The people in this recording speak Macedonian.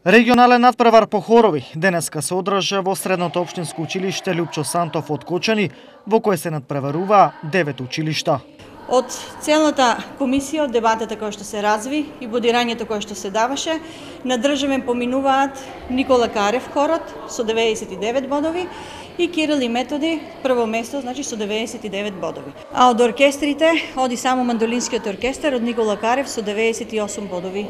Регионален надпревар по хорови денеска се одржа во Средното општинско училиште Лјупчо Сантов од Кочани, во кој се надпреваруваа 9 училишта. Од целата комисија, од дебатата која што се разви и бодирањето кое што се даваше, на државен поминуваат Никола Карев хорот со 99 бодови и Кирил и Методи прво место, значи со 99 бодови. А од оркестрите оди само мандолинскиот оркестар од Никола Карев со 98 бодови.